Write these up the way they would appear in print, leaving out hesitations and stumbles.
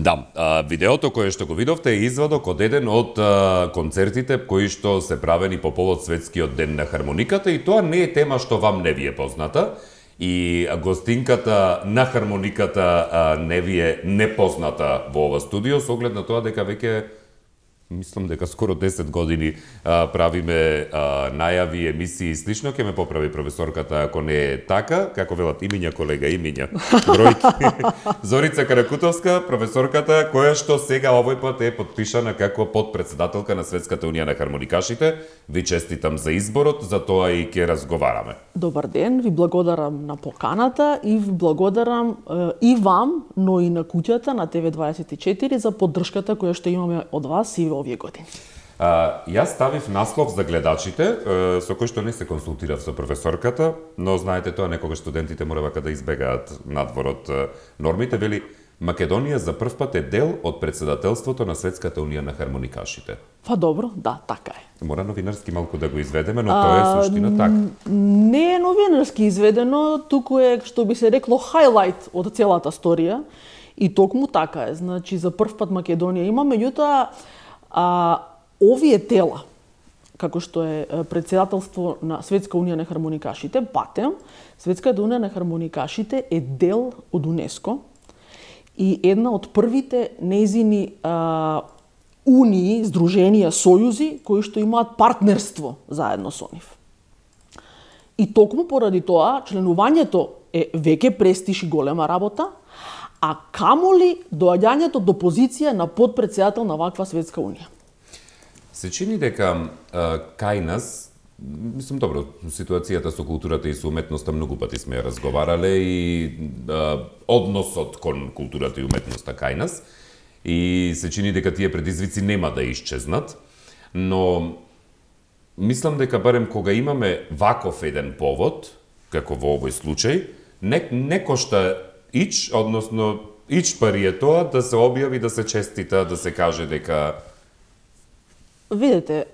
Да, видеото кое што го видовте е извадок од еден од концертите кои што се правени по повод Светскиот ден на хармониката, и тоа не е тема што вам не ви е позната, и гостинката на хармониката не ви е непозната во ова студио, со оглед на тоа дека веќе мислам дека скоро 10 години правиме најави, емисии и слично. Ке ме поправи професорката ако не е така. Како велат имиња, колега, имиња. Бројки. Зорица Каракутовска, професорката, која што сега овој пат е подпишана како подпредседателка на Светската унија на хармоникашите. Ви честитам за изборот, за тоа и ќе разговараме. Добар ден, ви благодарам на поканата и ви благодарам и вам, но и на куќата на ТВ24 за поддршката која што имаме од вас и овие години. Јас ставив наслов за гледачите, со кој што не се консултирав со професорката, но знаете тоа, некогаш студентите морава да избегаат надвор од нормите. Вели, Македонија за прв пат е дел од председателството на Светската унија на хармоникашите. Па добро, да, така е. Мора новинарски малку да го изведеме, но тоа е суштина така. Не е новинарски изведено, туку е, што би се рекло, хайлайт од целата сторија. И токму така е. Значи, за прв пат Македонија има, меѓутоа, овие тела, како што е председателство на Светска унија на хармоникашите, патем, Светската унија на хармоникашите е дел од УНЕСКО и една од првите нејзини унии, здруженија, сојузи, кои што имаат партнерство заедно со нив. И токму поради тоа, членувањето е веќе престиж и голема работа, а камоли доаѓањето до позиција на подпредседател на ваква Светска унија. Се чини дека кај нас, мислам, добро, ситуацијата со културата и со уметноста многу пати сме ја разговарале и односот кон културата и уметноста кај нас, и се чини дека тие предизвици нема да исчезнат, но мислам дека барем кога имаме ваков еден повод, како во овој случај, не кошта односно пари е тоа да се објави, да се честита, да се каже дека... Видете,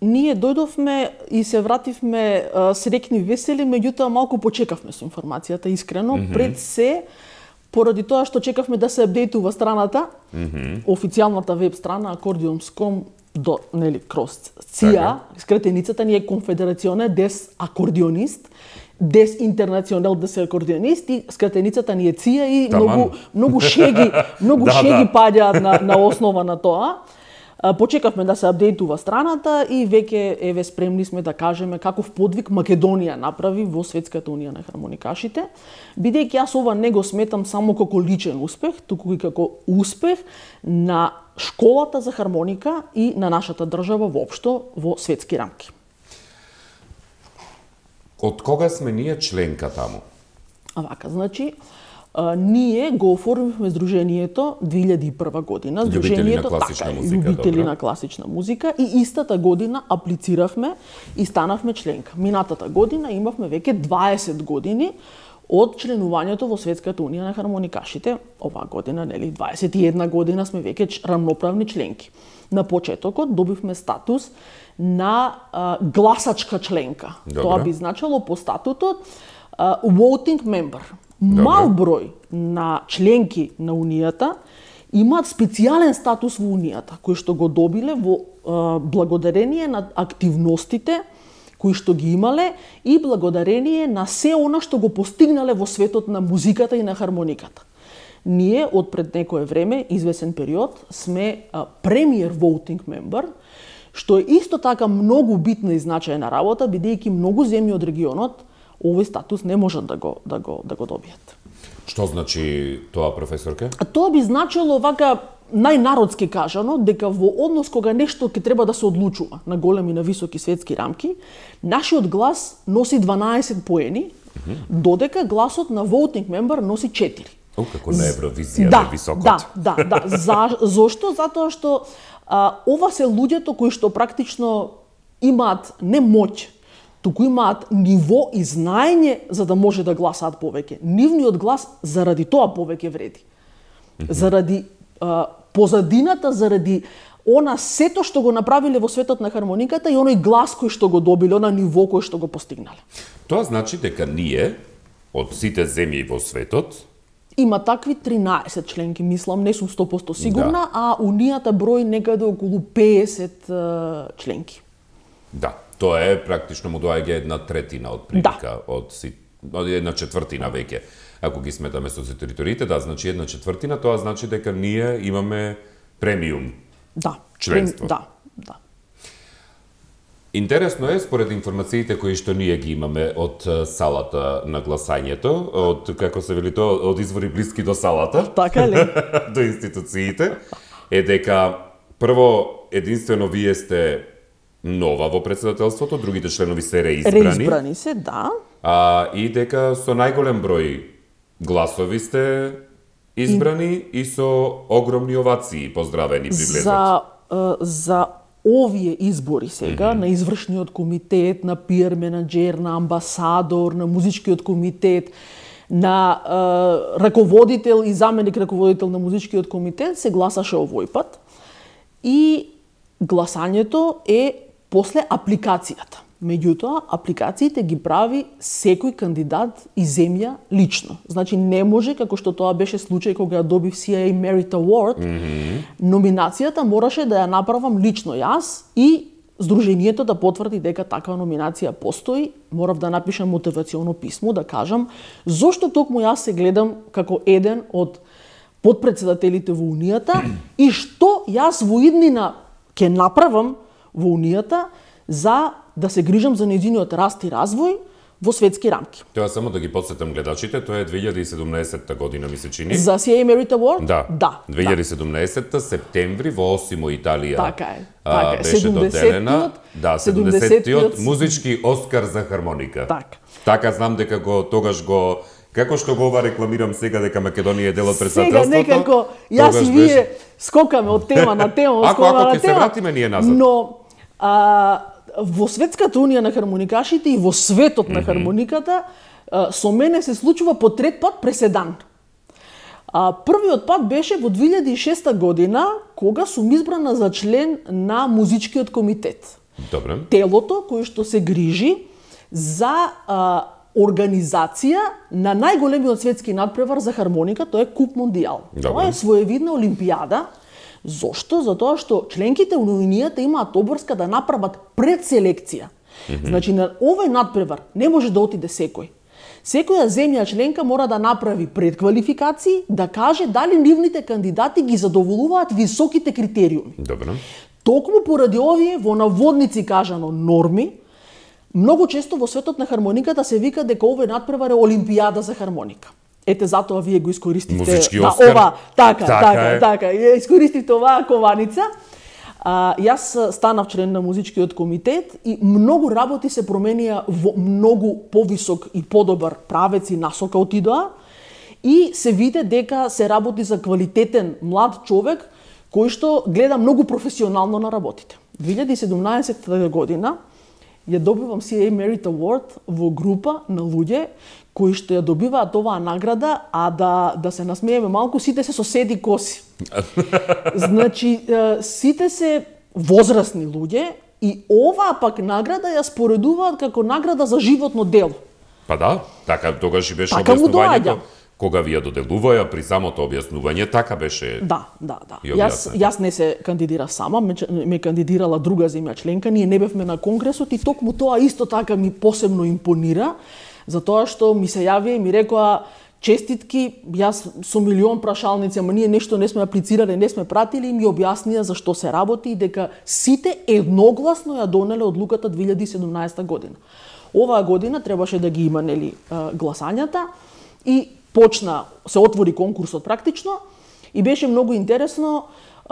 ние дојдовме и се вративме среќни, весели, меѓутоа малку почекавме со информацијата, искрено, пред се, поради тоа што чекавме да се апдейтува страната, официјалната веб страна Accordions.com кроз ЦИА, скратеницата ни е Confederazione des Accordionists, des International des Accordionists, и скратеницата ни е ЦИА, и многу шеги паѓаат на основа на тоа. Почекавме да се апдейтува страната и веќе еве спремни сме да кажеме каков подвиг Македонија направи во Светската унија на хармоникашите, бидејќи јас ова не го сметам само како личен успех, туку и како успех на школата за хармоника и на нашата држава воопшто во светски рамки. Од кога сме ние членка таму? Вака, значи, ние го оформивме Сдруженијето 2001 година. Љубители на класична музика, љубители на класична музика, и истата година аплициравме и станавме членка. Минатата година имавме веќе 20 години од членувањето во Светската унија на хармоникашите. Оваа година, нели, 21 година сме веќе рамноправни членки. На почетокот добивме статус на гласачка членка. Добре. Тоа би значило по статутот voting member. Мал број на членки на Унијата имаат специјален статус во Унијата, кои што го добиле во благодарение на активностите кои што ги имале и благодарение на се она што го постигнале во светот на музиката и на хармониката. Ние од пред некое време, извесен период, сме Premier Voting Member, што е исто така многу битна и значајна работа, бидејќи многу земји од регионот овој статус не можат да го добијат. Што значи тоа, професорке? Тоа би значило вака најнародски кажано, дека во однос кога нешто ќе треба да се одлучува на големи, на високи светски рамки, нашиот глас носи 12 поени, додека гласот на voting member носи 4. Како на Евровизија на високот. Да. Зошто? Затоа што ова се луѓето кои што практично имаат не моќ, туку имаат ниво и знаење за да може да гласаат повеќе. Нивниот глас заради тоа повеќе вреди. Заради позадината, заради она сето што го направиле во светот на хармониката и оној глас кој што го добиле, она ниво кој што го постигнале. Тоа значи дека ние, од сите земји во светот, има такви 13 членки, мислам, не сум 100% сигурна, а Унијата брои некаде околу 50 членки. Да, тоа е практично му доаѓа 1/3 од прилика, од 1/4 веќе. Ако ги сметаме со териториите, да, значи 1/4, тоа значи дека ние имаме премиум членство. Да. Интересно е, според информациите кои што ние ги имаме од салата на гласањето, од, како се вели тоа, од извори блиски до салата, така ли? до институциите, е дека прво единствено вие сте нова во председателството, другите членови се реизбрани. Реизбрани се, да. И дека со најголем број гласови сте избрани и со огромни овации поздравени при влезот. За овие избори сега, на извршниот комитет, на PR менаџер, на амбасадор, на музичкиот комитет, на раководител и заменик раководител на музичкиот комитет, се гласаше овој пат. И гласањето е после апликацијата. Меѓутоа, апликациите ги прави секој кандидат и земја лично. Значи, не може, како што тоа беше случај кога ја добив CIA Merit Award, номинацијата мораше да ја направам лично јас и Сдруженијето да потврди дека таква номинација постои. Морав да напишам мотивационо писмо, да кажам зошто токму јас се гледам како еден од подпредседателите во Унијата и што јас во иднина ќе направам во Унијата за да се грижам за нејзиниот раст и развој во светски рамки. Тоа само да ги потсетам гледачите, тоа е 2017 година, ми се чини. За CIA Merit Award? Да. 2017 септември во Осимо, Италија. Така е. Беше доделена, 70-тиот музички Оскар за хармоника. Така знам дека тогаш го како што го ова рекламирам сега дека Македонија е дел од председателството. Сега некако јас и вие скокаме од тема на тема, Ако ќе се вратиме ние назад. Но во Светската унија на хармоникашите и во светот на хармониката со мене се случува по трет пат преседан. Првиот пат беше во 2006 година кога сум избрана за член на музичкиот комитет. Добре. Телото кој што се грижи за организација на најголемиот светски надпревар за хармоника, тоа е Куп Мондијал. Тоа е своевидна олимпијада. Зошто? Затоа што членките на Унијата имаат обврска да направат предселекција. Значи, на овој надпревар не може да отиде секој. Секоја земја членка мора да направи предквалификации, да каже дали нивните кандидати ги задоволуваат високите критериуми. Добро. Токму поради овие, во наводници кажано, норми, многу често во светот на хармониката се вика дека овој надпревар е олимпијада за хармоника. Ете, затоа вие го искористивте музички Оскар. Ова, така, искористивте оваа кованица. Јас станав член на музичкиот комитет и многу работи се променија во многу повисок и подобар правец и насока отидоа и се виде дека се работи за квалитетен млад човек кој што гледа многу професионално на работите. 2017 година ја добивам CIA Merit Award во група на луѓе кои што ја добиваат оваа награда, а да се насмееме малку, сите се со седи коси. Значи, сите се возрастни луѓе и оваа пак награда ја споредуваат како награда за животно дело. Па да, така тогаш и беше така објаснувањето. Кога ви ја доделуваја при самото објаснување, така беше. Да. Јас не се кандидирав сама, ме кандидирала друга земја членка, ние не бевме на конгресот и токму тоа исто така ми посебно импонира, затоа што ми се јавија и ми рекоа честитки, јас со милион прашалници, ама ние нешто не сме аплицирале, не сме пратили и ми објаснија за што се работи и дека сите едногласно ја донеле одлуката 2017 година. Оваа година требаше да ги има гласањата и се отвори конкурсот практично И беше многу интересно,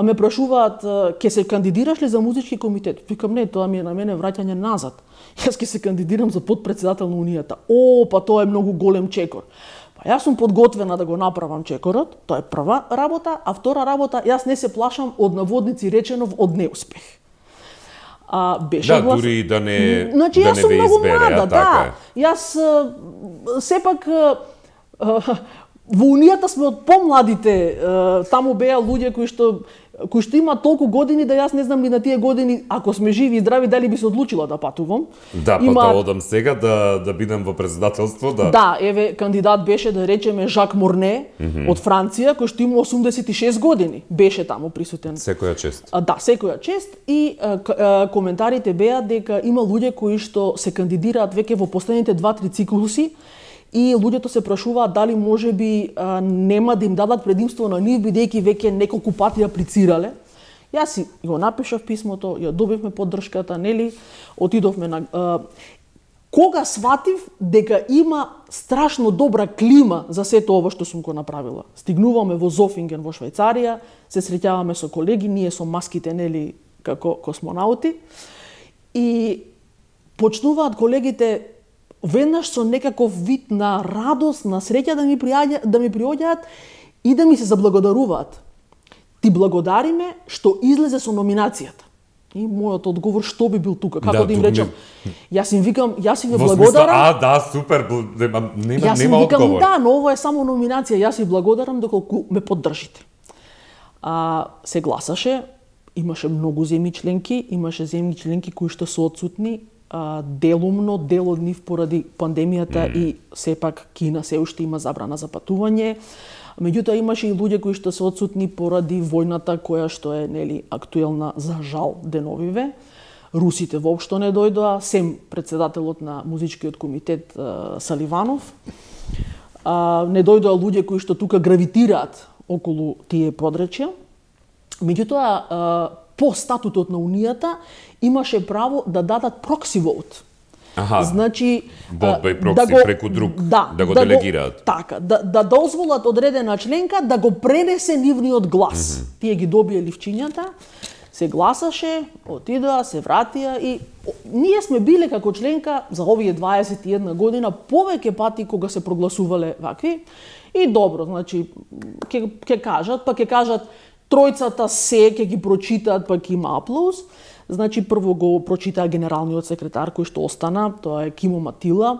ме прашуваат, ќе се кандидираш ли за музички комитет? Викам, не, тоа ми е на мене враќање назад. Јас ќе се кандидирам за подпредседател на Унијата. Па тоа е многу голем чекор. Па јас сум подготвена да го направам чекорот, тоа е прва работа, а втора работа, јас не се плашам од наводници реченов од неуспех. Беше дури да не значи, да јас не сум ве многу избере, млада, така да. Јас сепак во Унијата сме од помладите, таму беа луѓе кои што имаат толку години да јас не знам ли на тие години, ако сме живи и здрави, дали би се одлучила да патувам. Да, па да одам сега да бидам во председателство, да. Да, еве кандидат беше да речеме Жак Морне од Франција, кој што има 86 години, беше таму присутен. Секоја чест. Да, секоја чест и коментарите беа дека има луѓе кои што се кандидираат веќе во последните 2-3 циклуси и луѓето се прашуваат дали можеби нема да им дадат предимство на нив бидејќи веќе неколку пати аплицирале. Јас си го напишав писмото, ја добивме поддршката, нели, отидовме на кога сватив дека има страшно добра клима за сето ова што сум го направила. Стигнуваме во Зофинген во Швајцарија, се среќаваме со колеги, ние со маските, нели, како космонаути, и почнуваат колегите веднаш со некаков вид на радост, на среќа да ми приоѓаат и да ми се заблагодаруваат. Ти благодариме што излезе со номинацијата. И мојот одговор што би бил тука, како да им речам. Јас им викам, јас ви благодарам. Да, супер, нема викам, одговор. Да, но ова е само номинација, јас ви благодарам доколку ме поддржите. Се гласаше, имаше многу земји членки, имаше земји членки кои што се отсутни, делумно, дел од нив поради пандемијата и сепак Кина се уште има забрана за патување. Меѓутоа имаше и луѓе кои што се отсутни поради војната која што е, нели, актуелна за жал деновиве. Русите воопшто не дојдоа, сем председателот на музичкиот комитет Саливанов. Не дојдоа луѓе кои што тука гравитираат околу тие подречја. Меѓутоа по статутот на Унијата имаше право да дадат прокси воут. Значи бодба и прокси преку друг, да го делегираат. Така, да дозволат одредена членка да го пренесе нивниот глас. Тие ги добија ливчињата, се гласаше, отидоа, се вратија и ние сме биле како членка за овие 21 година повеќе пати кога се прогласувале вакви. И добро, значи ќе кажат тројцата се ќе ги прочитаат, па ќе има аплауз. Значи, прво го прочитаа генералниот секретар кој што остана, тоа е Кимо Матила.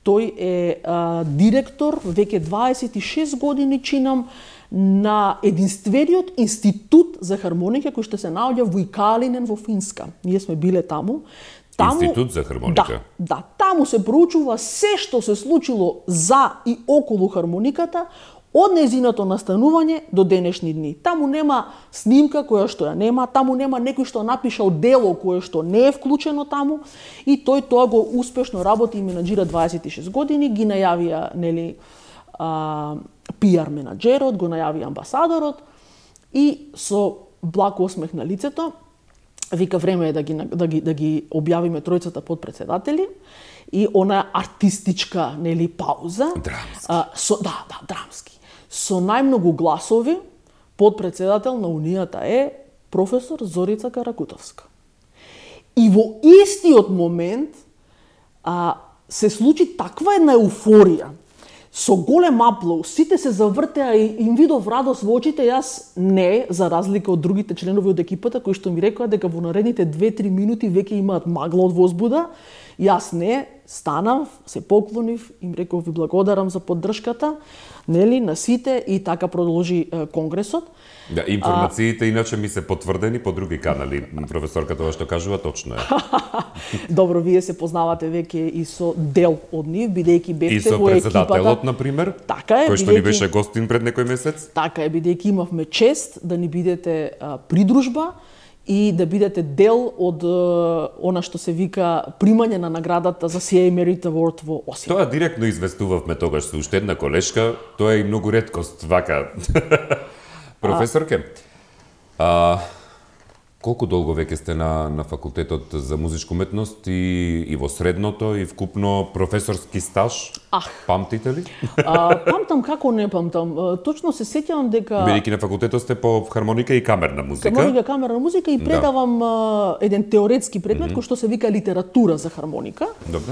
Тој е директор, веќе 26 години чинам, на единствениот институт за хармоника кој што се наоѓа во Икалинен во Финска. Ние сме биле таму. Институт за хармоника? Да, таму се проучува се што се случило за и околу хармониката, од нејзиното настанување до денешни дни. Таму нема снимка која што ја нема, таму нема некој што напишал дело кое што не е вклучено таму и тој тоа го успешно работи и менаџира 26 години, ги најавија, нели, PR менаџерот, го најави амбасадорот и со благ осмех на лицето вика време е да ги објавиме тројцата подпредседатели и она артистичка, нели, пауза. Драмски. Драмски. Со најмногу гласови подпредседател на Унијата е професор Зорица Каракутовска. И во истиот момент се случи таква една еуфорија, со голем аплауз, сите се завртеа и им видов радост во очите, јас не, за разлика од другите членови од екипата кои што ми рекоа дека во наредните 2-3 минути веќе имаат магла од возбуда. Јас не, станав, се поклонив, им реков ви благодарам за поддршката, нели, на сите и така продолжи конгресот. Да, информациите иначе ми се потврдени по други канали. Професорка тоа што кажува точно е. Добро, вие се познавате веќе и со дел од нив, бидејќи бевте во екипата. И со председателот, например, така е, кој што ни беше гостин пред некој месец. Така е, бидејќи имавме чест да ни бидете придружба и да бидете дел од она што се вика примање на наградата за CA Merit Award во Осијак. Тоа директно известувавме тогаш со уште една колешка, тоа е и многу реткост вака. Професорке, Колку долго веќе сте на факултетот за музичка уметност и во средното и вкупно професорски стаж? Памтите ли? Памтам, како не памтам. Точно се сеќавам дека Бидејќи на факултетот сте по хармоника и камерна музика. Хармоника, камерна музика и предавам еден теоретски предмет кој што се вика литература за хармоника. Добро.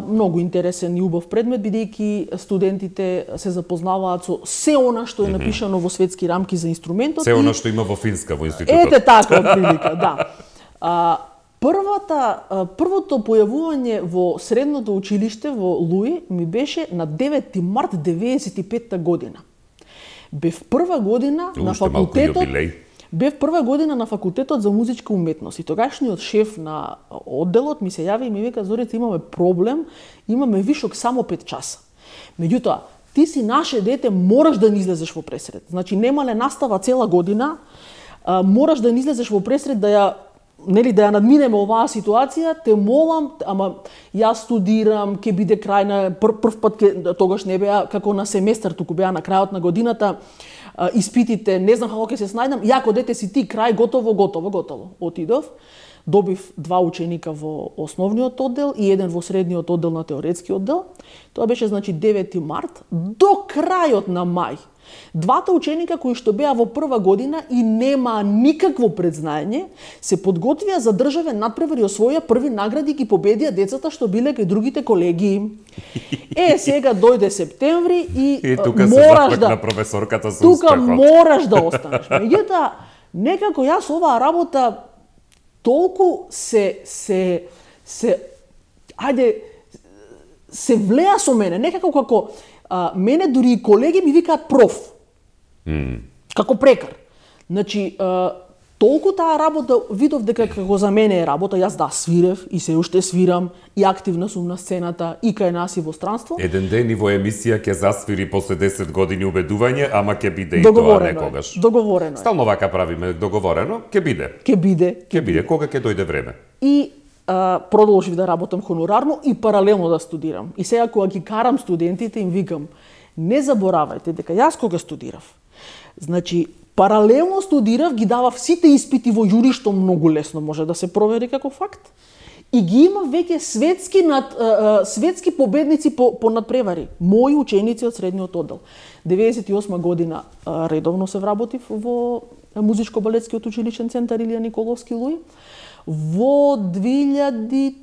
Многу интересен и убав предмет, бидејќи студентите се запознаваат со се она што е напишано во светски рамки за инструментот. Се она што има во Финска, во институтот. Ете така, прилика, да. Првото појавување во средното училиште во Луи ми беше на 9 март 95 година. Бев прва година на факултетот. Бев прва година на факултетот за музичка уметност и тогашниот шеф на одделот ми се јави и ми вика: Зорица, имаме проблем, имаме вишок само 5 часа. Меѓутоа, ти си наше дете, мораш да ни излезеш во пресред. Значи немале настава цела година, мораш да ни излезеш во пресред да ја надминеме оваа ситуација, те молам, ама јас студирам, ќе биде крај на прв пат, тогаш не беа како на семестар, туку беа на крајот на годината, испитите, не знам како ќе се снајдам, јако дете си ти, крај, готово. Отидов, добив 2 ученика во основниот оддел и еден во средниот оддел на теоретски оддел. Тоа беше значи 9 март до крајот на мај. Двата ученика кои што беа во прва година и нема никакво предзнаење, се подготвија за државен надпревар и освоја први награди, ги победија децата што биле кај другите колеги. Сега дојде септември и тука мораш се на професорката со тука успехот. мораш да останеш. Меѓутоа, некако јас оваа работа толку се влеа со мене, некако како мене дури и колеги ми викаат проф. Како прекар. Значи, толку таа работа видов дека како за мене е работа, јас свирев и се уште свирам и активна сум на сцената и кај нас и во странство. Еден ден и во емисија ќе засвири после 10 години убедување, ама ќе биде и тоа некогаш. Договорено е. Стално вака правиме, договорено, ќе биде. Ќе биде, кога ќе дојде време. И продолжив да работам хонорарно и паралелно да студирам. И сега кога ги карам студентите им викам: не заборавајте дека јас кога студирав, значи паралелно студирав, ги давав сите испити во јури, што многу лесно може да се провери како факт. И ги имав веќе светски победници по надпревари. Мои ученици од средниот оддел. 98 година редовно се вработив во музичко-балетскиот училишен центар Илија Николовски Луи. Во 2001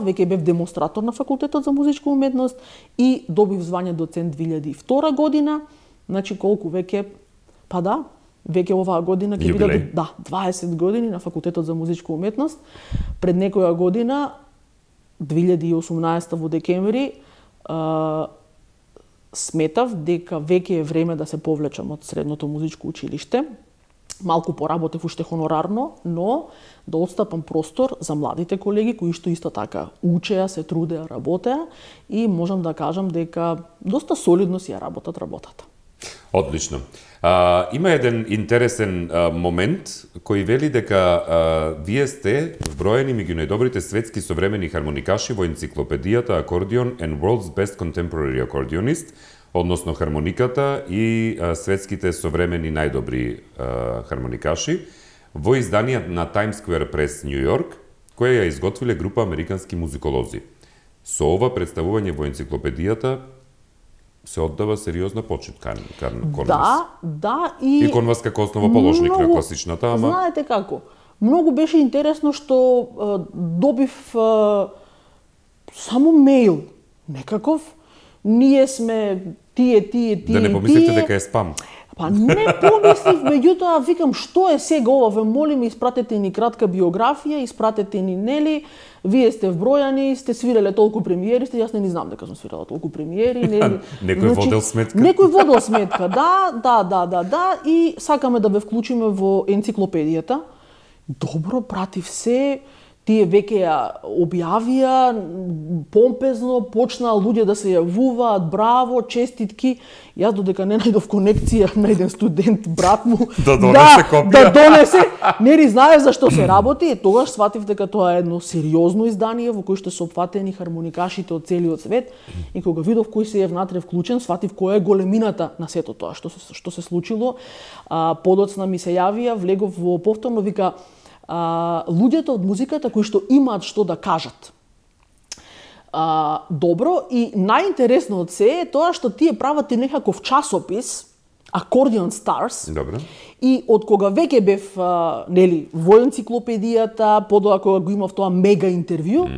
веќе бев демонстратор на факултетот за музичка уметност и добив звање доцент 2002 година. Значи колку веќе? Веќе оваа година ќе биде 20 години на факултетот за музичка уметност. Пред некоја година, 2018 во декември, сметав дека веќе е време да се повлечам од средното музичко училиште. Малку поработев уште хонорарно, но да отстапам простор за младите колеги кои што исто така учеа, се трудеа, работеа и можам да кажам дека доста солидно си ја работат работата. Одлично. Има еден интересен момент кој вели дека вие сте вброени меѓу најдобрите светски современи хармоникаши во енциклопедијата Accordion and World's Best Contemporary Accordionist, односно хармониката и светските современи најдобри хармоникаши, во изданија на Times Square Press, Нью Йорк, која ја изготвиле група американски музиколози. Со ова представување во енциклопедијата се оддава сериозна почит кон вас. Да, и кон вас како основоположник на класичната, ама... Знаете како, многу беше интересно што добив само мејл, некаков, ние сме тие. Да не помислите дека е спам? Не помислив, меѓутоа викам што е сега ова, ве молим, испратете ни кратка биографија, испратете ни, нели, вие сте вбројани, сте свиреле толку премиери, јас не знам дека сум свирала толку премиери, нели. Некој водел сметка? Некој водел сметка, да, и сакаме да ве вклучиме во енциклопедијата. Добро, пратив се, тие веќе ја објавија помпезно, почнаа луѓе да се јавуваат, браво, честитки. Јас додека не најдов конекција на еден студент, брат му, да донесе копија. Да донесе, не знаев за што се работи, и тогаш сватив дека тоа е едно сериозно издание во кое што се опфатени хармоникашите од целиот свет, и кога видов кој се е внатре вклучен, сватив која е големината на сето тоа што се случило. Подоцна ми се јавија, влегов во повторно, вика, луѓето од музиката кои што имаат што да кажат. Добро, и најинтересно од се е тоа што тие прават и некаков часопис, Accordion Stars. Добро. И од кога веќе бев во енциклопедијата, подоа кога го имав тоа мега интервју,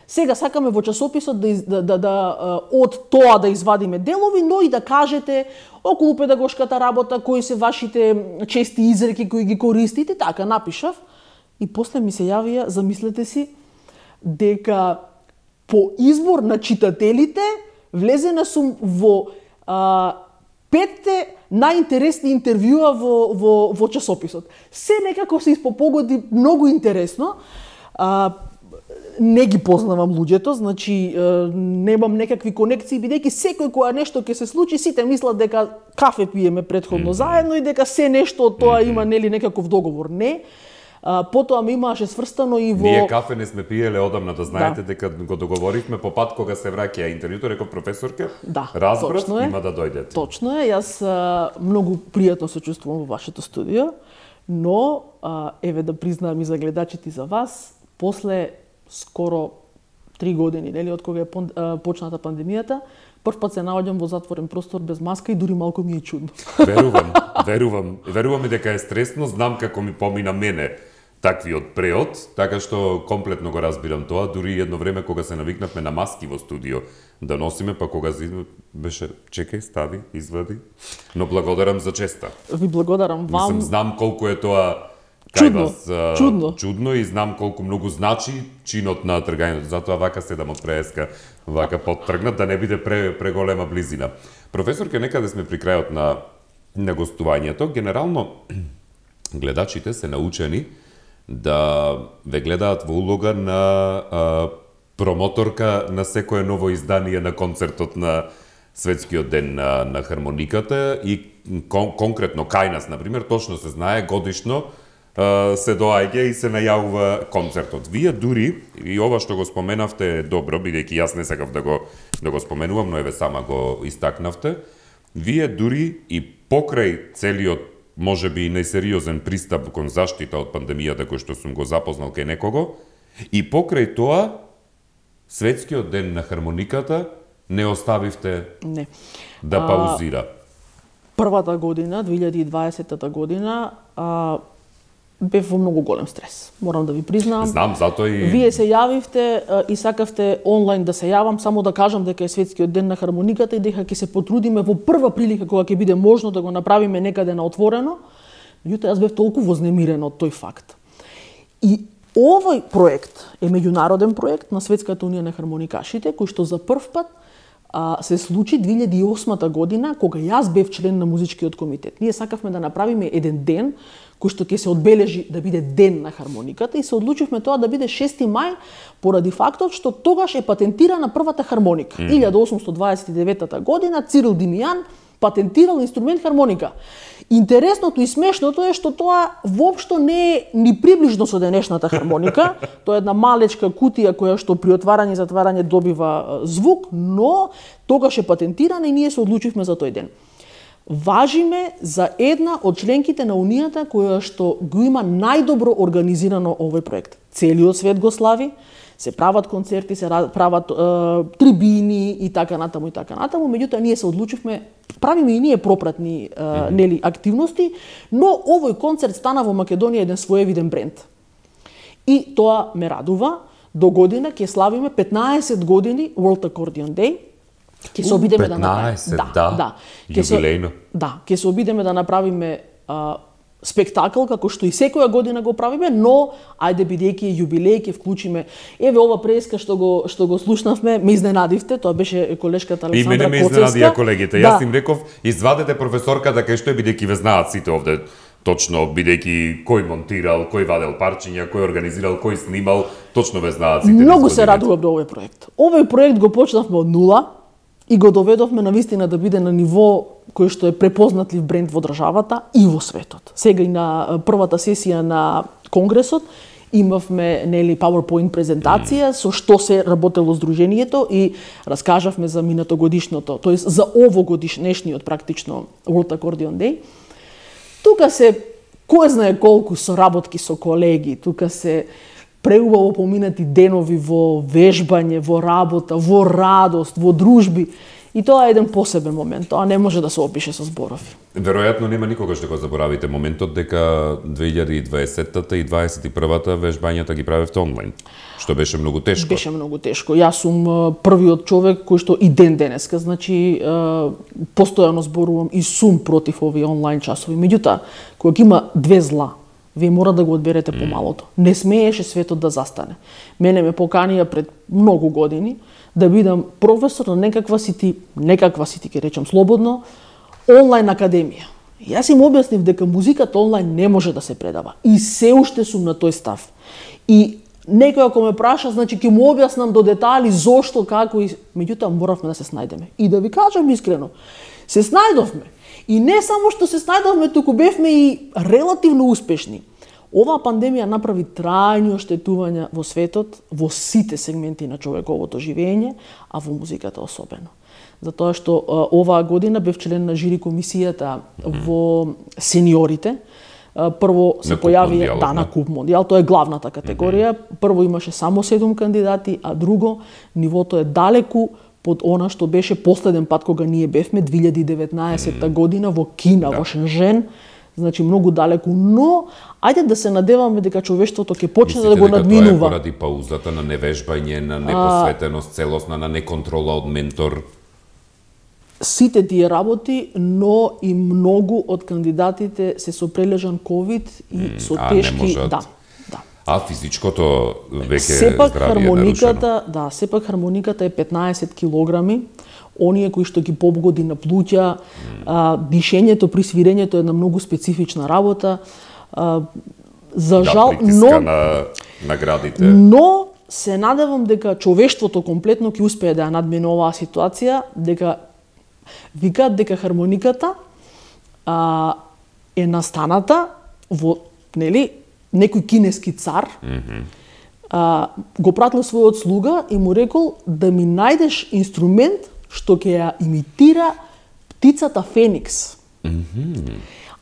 сега сакаме во часописот од тоа да извадиме делови, но и да кажете околу педагошката работа, кои се вашите чести изреки кои ги користите, така напишав. И после ми се јавија, замислете си, дека по избор на читателите влезена сум во 5 најинтересни интервјуа во часописот. Се некако се испопогоди многу интересно. Не ги познавам луѓето, значи немам некакви конекции, бидејќи секој која нешто ќе се случи, сите мислат дека кафе пиеме претходно заедно и дека се нешто од тоа има некаков договор. Не. Потоа ме имаше сврстано и во... Ние кафе не сме пиеле одамна, да знаете, дека го договоривме по пат кога се враќа интервјуто, реков професорке, разбрав, има да дојдете. Точно е, јас многу пријатно се чувствувам во вашето студио, но, еве да признаам и за гледачите и за вас, после скоро 3 години, нели, од кога е почната пандемијата, прв пат се наоѓам во затворен простор без маска и дури малку ми е чудно. Верувам и дека е стресно, знам како ми помина мене таквиот преод, така што комплетно го разбирам тоа, дури едно време кога се навикнавме на маски во студио да носиме, па кога беше чекај, стави, извади, но благодарам за честа. Ви благодарам вам. Мислам, знам колку е тоа чудно и знам колку многу значи чинот на тргањето. Затоа вака седам од преска, вака подтргнат, да не биде преголема близина. Професорке, некаде сме при крајот на гостувањето. Генерално, гледачите се научени да ве гледаат во улога на промоторка на секое ново издание на концертот на Светскиот ден на хармониката и конкретно кај нас, например, точно се знае годишно се доаѓа и се најавува концертот. Вие дури, и ова што го споменавте е добро, бидејќи јас не сакав да го споменувам, но еве сама го истакнавте, вие дури и покрај целиот, можеби и најсериозен пристап кон заштита од пандемијата кој што сум го запознал кај некого, и покрај тоа Светскиот ден на хармониката не оставивте да паузира. Првата година, 2020 година, бев во многу голем стрес. Морам да ви признам. Знам, затоа и... Вие се јавивте и сакавте онлайн да се јавам, само да кажам дека е Светскиот ден на хармониката и дека ќе се потрудиме во прва прилика кога ќе биде можно да го направиме некаде на отворено. Меѓутоа, јас бев толку вознемирен од тој факт. И овој проект е меѓународен проект на Светската унија на хармоникашите, кој што за прв пат се случи 2008 година, кога јас бев член на музичкиот комитет. Ние сакавме да направиме еден ден кој што ќе се одбележи да биде ден на хармониката и се одлучивме тоа да биде 6 мај поради фактот што тогаш е патентирана првата хармоника. 1829 година Цирил Димијан патентирал инструмент хармоника. Интересното и смешното е што тоа воопшто не е ни приближно со денешната хармоника. Тоа е една малечка кутија која што при отварање и затварање добива звук, но тогаш е патентирана и ние се одлучивме за тој ден. Важиме за една од членките на Унијата која што го има најдобро организирано овој проект. Целиот свет го слави, се прават концерти, се прават трибини и така натаму, меѓутоа ние се одлучивме, правиме и ние пропратни нели активности, но овој концерт стана во Македонија еден своевиден бренд. И тоа ме радува. До година ќе славиме 15 години World Accordion Day. Ќе се обидеме да направиме. Јубилејно. Да, ќе се обидеме да направиме спектакл, како што и секоја година го правиме, но ајде бидејќи е јубилеј ќе вклучиме. Еве ова преска што го слушнавме, ме изненадивте, тоа беше колешката Александра Коцевска. И мене ме изненадија колегите. Јас им реков, извадете професорката кај што е, бидејќи ве знаат сите овде точно бидејќи кој монтирал, кој вадел парчиња, кој организирал, кој снимал, точно ве знаат сите. Многу се радувам на овој проект. Овој проект го почнавме од нула и го доведовме на вистина да биде на ниво кој што е препознатлив бренд во државата и во светот. Сега и на првата сесија на Конгресот имавме PowerPoint презентација со што се работело здруженијето и раскажавме за минатогодишното, тоест за овогодишнешниот практично World Accordion Day. Тука се кој знае колку соработки со колеги, тука се преубаво поминати денови во вежбање, во работа, во радост, во дружби. И тоа е еден посебен момент, тоа не може да се опише со зборови. Веројатно нема никогаш да го заборавите моментот дека 2020-та и 2021-та вежбањата ги правевте онлайн, што беше многу тешко. Беше многу тешко. Јас сум првиот човек кој што и ден денеска, значи постојано зборувам и сум против овие онлайн часови. Меѓутоа, кога има две зла, вие мора да го одберете помалото. Не смееше светот да застане. Мене ме поканија пред многу години да бидам професор на некаква си ти ќе речам слободно, онлайн академија. Јас им објаснив дека музиката онлайн не може да се предава. И се уште сум на тој став. И некој ако ме праша, значи ќе му објаснам до детали зошто, како и меѓутоа моравме да се снајдеме. И да ви кажам искрено, се снајдовме. И не само што се снајдовме, туку бевме и релативно успешни. Оваа пандемија направи трајни оштетувања во светот, во сите сегменти на човековото живење, а во музиката особено. Затоа што оваа година бев член на жири комисијата во сениорите. Прво се појави на Куп Мондијал, тоа е главната категорија. Прво имаше само 7 кандидати, а друго нивото е далеку под она што беше последен пат кога ние бевме 2019 година во Кина, во Шенжен. Значи многу далеку, но ајде да се надеваме дека човештвото ќе почне да го надминува. Тоа е поради паузата на невежбање, на непосветеност целосна, на неконтрола од ментор? Сите тие работи, но и многу од кандидатите се со прележан ковид и со тешки, да. А физичкото веќе здравје нарушено? Да, сепак хармониката е 15 килограми. Оние кои што ги погоди на плуќа, дишењето при свирењето е една многу специфична работа. За жал, притиска на наградите. Но се надевам дека човештвото комплетно ќе успее да ја надмине оваа ситуација, дека викаат дека хармониката е настаната во некој кинески цар. Го пратил својот слуга и му рекол да ми најдеш инструмент што ќе ја имитира птицата Феникс.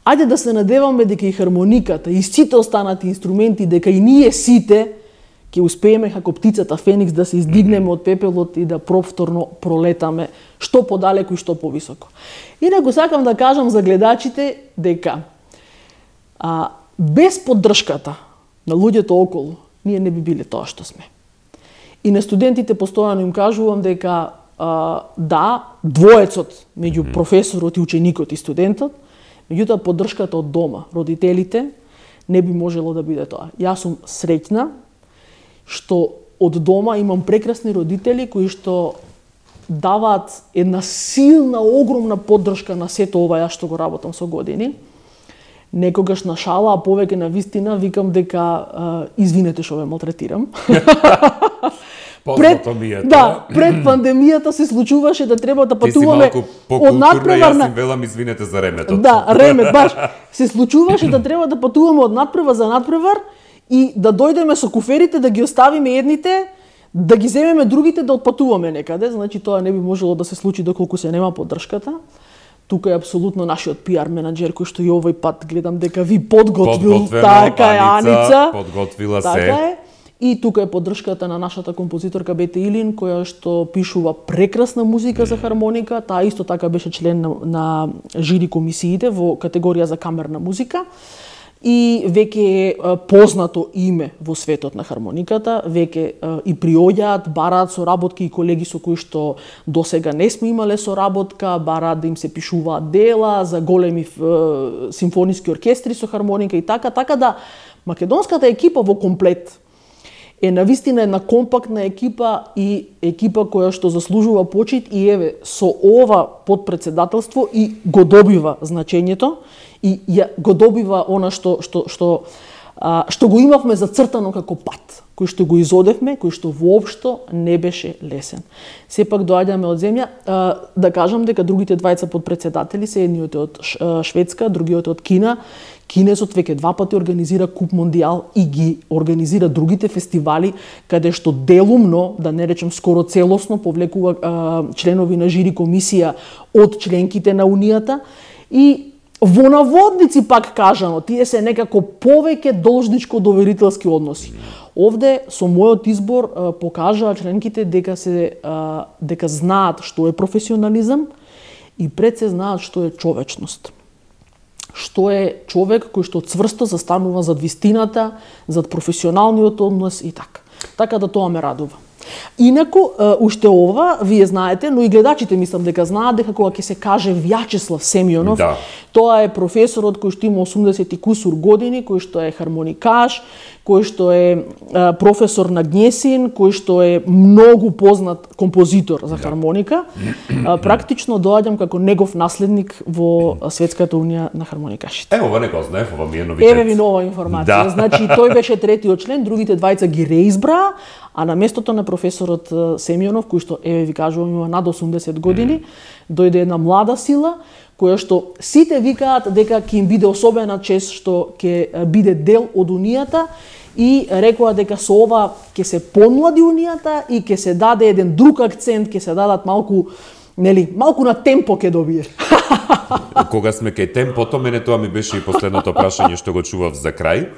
Ајде да се надеваме дека и хармониката и сите останати инструменти, дека и ние сите ќе успееме како птицата Феникс да се издигнеме од пепелот и да повторно пролетаме што подалеку и што повисоко. Инаку сакам да кажам за гледачите дека без поддршката на луѓето околу ние не би биле тоа што сме. И на студентите постојано им кажувам дека да, двоецот меѓу професорот и ученикот и студентот, меѓутоа поддршката од дома, родителите, не би можело да биде тоа. Јас сум среќна што од дома имам прекрасни родители кои што даваат една силна, огромна поддршка на сето ова јас што го работам со години. Некогаш на шала, а повеќе на вистина, викам дека извинете што ве малтретирам. Пред пандемијата се случуваше да треба да патуваме од надпревар на... Јас им велам извинете за реметот. Да, ремет, баш. Се случуваше да треба да патуваме од надпревар за надпревар и да дојдеме со куферите, да ги оставиме едните, да ги земеме другите, да отпатуваме некаде. Значи тоа не би можело да се случи доколку се нема поддршката. Тука е апсолутно нашиот пиар менаџер кој што и овој пат гледам дека ви подготвил, така е Аница. Подготвила се. Така е. И тука е поддршката на нашата композиторка Бете Илин, која што пишува прекрасна музика за хармоника. Таа исто така беше член на жири комисиите во категорија за камерна музика. И веќе е познато име во светот на хармониката, веќе и приоѓаат, бараат соработки и колеги со кои што досега не сме имале соработка, бараат да им се пишуваат дела за големи симфониски оркестри со хармоника и така да македонската екипа во комплет е навистина една компактна екипа и екипа која што заслужува почит и еве со ова подпредседателство и го добива значењето и го добива она што го имавме зацртано како пат, кој што го изодевме, кој што воопшто не беше лесен. Сепак доаѓаме од земја, да кажам дека другите двајца подпредседатели се едниот е од Шведска, другиот е од Кина. Кинесот веќе 2 пати организира Куп Мондијал и ги организира другите фестивали каде што делумно, да не речем скоро целосно, повлекува членови на жири комисија од членките на Унијата и во наводници пак кажано, тие се некако повеќе должничко доверителски односи. Овде со мојот избор покажаа членките дека знаат што е професионализам и пред се знаат што е човечност. Што е човек кој што цврсто застанува зад вистината, зад професионалниот однос и така. Така да тоа ме радува. Инаку, уште ова, вие знаете, но и гледачите мислам дека знаат дека кога ќе се каже Вјачеслав Семјонов, тоа е професорот кој што има 80 и кусур години, кој што е хармоникаш, кој што е професор на Гнесин, кој што е многу познат композитор за хармоника, практично доаѓам како негов наследник во Светската унија на хармоникашите. Ова не го знаев, ова ми е новитет. Еве ви нова информација. Значи, тој беше третиот член, другите двајца ги реизбраа, а на местото на професорот Семјонов, кој што, еве ви кажувам, има над 80 години, дојде една млада сила, која што сите викаат дека ќе им биде особена чест што ќе биде дел од Унијата и рекоа дека со ова ќе се помлади Унијата и ќе се даде еден друг акцент, ќе се дадат малку на темпо ќе добие. Кога сме кај темпото, мене тоа ми беше и последното прашање што го чував за крај.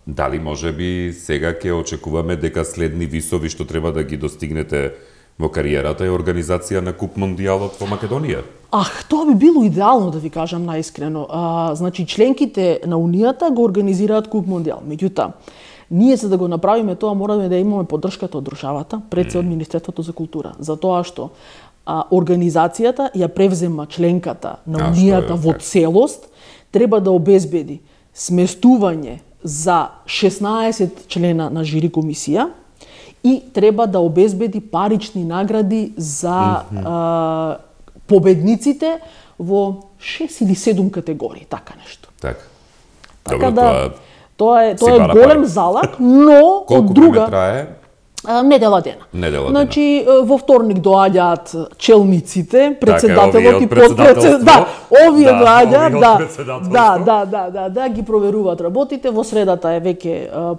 Дали може би сега ќе очекуваме дека следни висови што треба да ги достигнете во кариерата е организација на Куп Мондијалот во Македонија? Тоа би било идеално, да ви кажам наискрено. Значи, членките на Унијата го организираат Куп Мондијал. Меѓутоа, ние за да го направиме тоа мораме да имаме поддршката од државата, пред се од Министерството за култура. Затоа што организацијата ја превзема членката на Унијата во целост, треба да обезбеди сместување за 16 члена на жири комисија и треба да обезбеди парични награди за победниците во 6 или 7 категории, така нешто. Така да, тоа е голем залак, но од друга време трае? Недела дена. Значи, во вторник доаѓаат челниците, председателот и подпредседателот. Овие доаѓаат, ги проверуваат работите. Во средата е веќе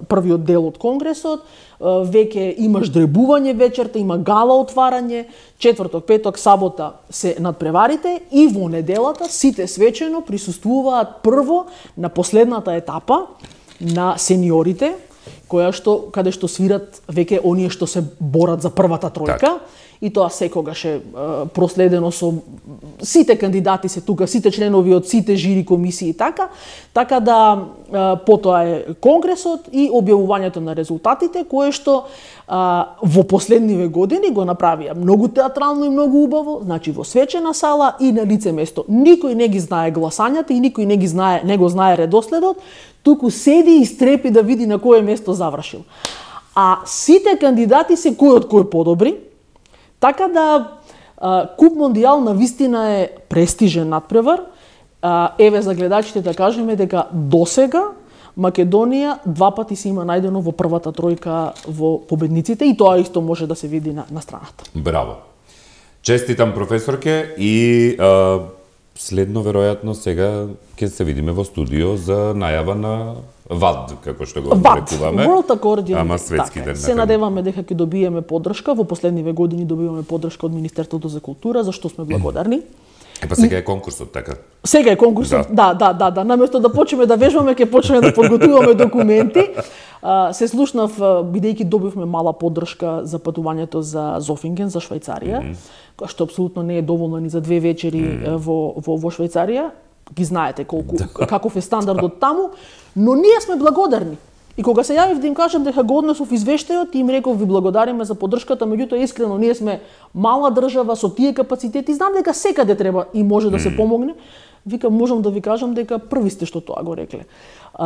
првиот дел од конгресот. Веќе има ждребување вечерта, има гала отварање, четврток, петок, сабота се надпреварите и во неделата сите свечено присуствуваат прво на последната етапа на сениорите, каде што свират веќе оние што се борат за првата тројка. И тоа секогаш е проследено со сите кандидати се тука, сите членови од сите жири комисии така. Така да потоа е конгресот и објавувањето на резултатите, кое што во последниве години го направија многу театрално и многу убаво, значи во свечена сала и на лице место. Никој не ги знае гласањата и никој не го знае редоследот, туку седи и стрепи да види на кое место завршил. А сите кандидати се кој од кој подобри. Така да Куп Мондијал на вистина е престижен надпревар. Еве за гледачите да кажеме дека досега Македонија 2 пати се има најдено во првата тројка во победниците и тоа исто може да се види на страната. Браво. Честитам професорке и следно веројатно сега ќе се видиме во студио за најава на ВАД, како што го рекуваме. World Accordion. Ама светски ден. Се надеваме дека ќе добиеме поддршка. Во последниве години добиваме поддршка од Министерството за култура, за што сме благодарни. Сега е конкурсот, така? Сега е конкурсот, да. Наместо да почнеме да вежбаме, ќе почнеме да подготвуваме документи. Се слушнав, бидејќи добивме мала поддршка за патувањето за Зофинген, за Швајцарија, што апсолутно не е доволно ни за 2 вечери во Швајцарија. Ги знаете каков е стандардот таму, но ние сме благодарни. И кога се јавив да им кажам дека го однесов извештајот, им реков ви благодариме за поддршката, меѓутоа искрено ние сме мала држава со тие капацитети, знам дека секаде треба и може да се помогне, вика, можам да ви кажам дека први сте што тоа го рекле.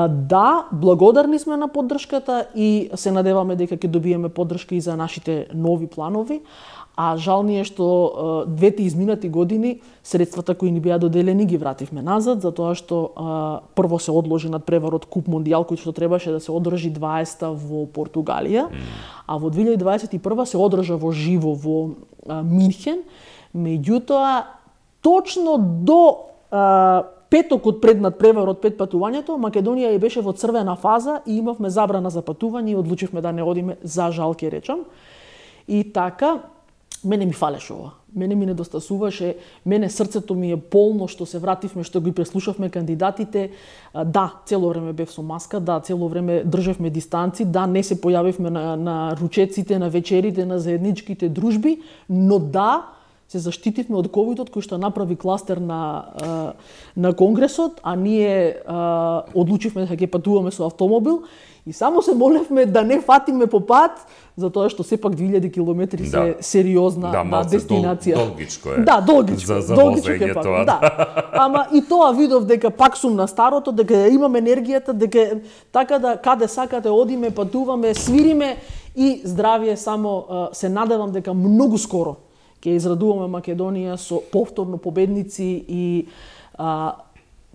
Да, благодарни сме на поддршката и се надеваме дека ќе добиеме поддршка и за нашите нови планови. А жал ни е што двете изминати години средствата кои ни беа доделени ги вративме назад, затоа што прво се одложи надпреварот Куп Мондијал, кој што требаше да се одржи 20-та во Португалија, а во 2021 се одржа во живо во Минхен. Меѓутоа, точно до петокот пред надпреварот, пред патувањето, Македонија ја беше во црвена фаза и имавме забрана за патување и одлучивме да не одиме, за жал ке речам. И така, мене ми фалеше ова. Мене ми недостасуваше, мене срцето ми е полно што се вративме, што ги преслушавме кандидатите. Да, цело време бев со маска, да, цело време држевме дистанци, да, не се појавивме на ручеците, на вечерите, на заедничките дружби, но да, се заштитивме од ковидот кој што направи кластер на Конгресот, а ние одлучивме дека ќе патуваме со автомобил и само се молевме да не фатиме по пат, затоа што сепак 2000 километри се сериозна дестинација. Долгичко е. Да, долгичко. За возење тоа. Да. Ама и тоа видов дека пак сум на старото, дека имам енергијата, дека така да каде сакате одиме, патуваме, свириме и здравје, само се надевам дека многу скоро ќе израдуваме Македонија со повторно победници и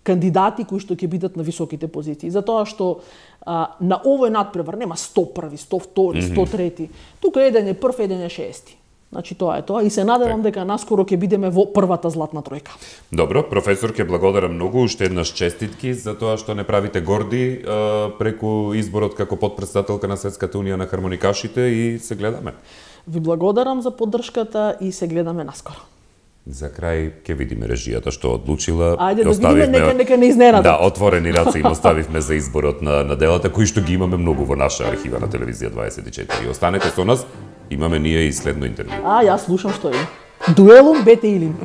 кандидати кои што ќе бидат на високите позиции. Затоа што на овој надпревар нема 101, 102, 103. Тука еден е прв, еден е шести. Значи тоа е тоа и се надевам дека наскоро ќе бидеме во првата златна тројка. Добро, професор, ќе благодарам многу, уште еднаш честитки за тоа што не правите горди преку изборот како потпредседателка на Светската унија на хармоникашите и се гледаме. Ви благодарам за поддршката и се гледаме наскоро. За крај ќе видиме режијата што одлучила. Ајде да видиме, нека не изненадат. Да, отворени раце им оставивме за изборот на делата, кои што ги имаме многу во наша архива на Телевизија 24. Останете со нас, имаме ние и следно интервју. Јас слушам што е. Дуелум бете илим.